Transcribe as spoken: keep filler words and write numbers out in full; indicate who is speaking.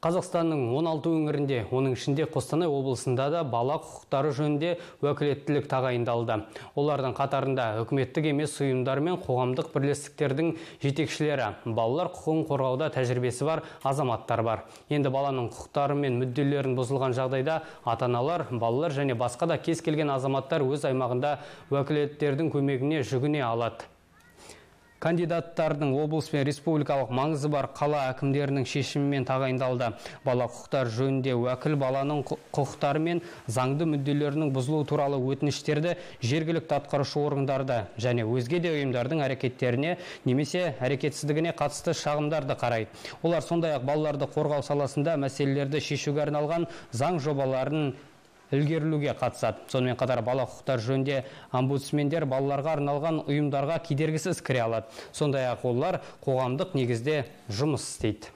Speaker 1: Қазақстанның он алты өңірінде, оның ішінде Қостанай облысында да бала құқықтары жөнінде уәкілеттілік тағайындалды. Олардың қатарында үкіметтік емес ұйымдар мен қоғамдық бірлестіктердің жетекшілері, балалар құқығын қорғауда тәжірибесі бар азаматтар бар. Енді баланың құқықтары мен мүдделерін бұзылған жағдайда ата-аналар, балалар және басқа да кез келген азаматтар өз аймағында уәкілеттердің көмегіне жүгіне алады. Кандидаттардың облыс пен республикалық маңызы бар қала әкімдерінің шешімімен тағайындалды. Бала құқықтар жөнінде уәкіл баланың құқықтары мен заңды мүдделерінің бұзылуы туралы өтініштерді жергілікті атқарушы органдарды және өзге де ұйымдардың әрекеттеріне немесе әрекетсіздігіне қатысты шағымдарды қарайды. Олар сондай-ақ балаларды қорғау саласында мәселелерді шешуге арналған заң жобаларын ілгерілуге қатысады. Сонымен қатар бала құқықтар жөнінде омбудсмендер балаларға арналған ұйымдарға кедергісіз кіре алады. Сондай-ақ олар қоғамдық негізде жұмыс істейді.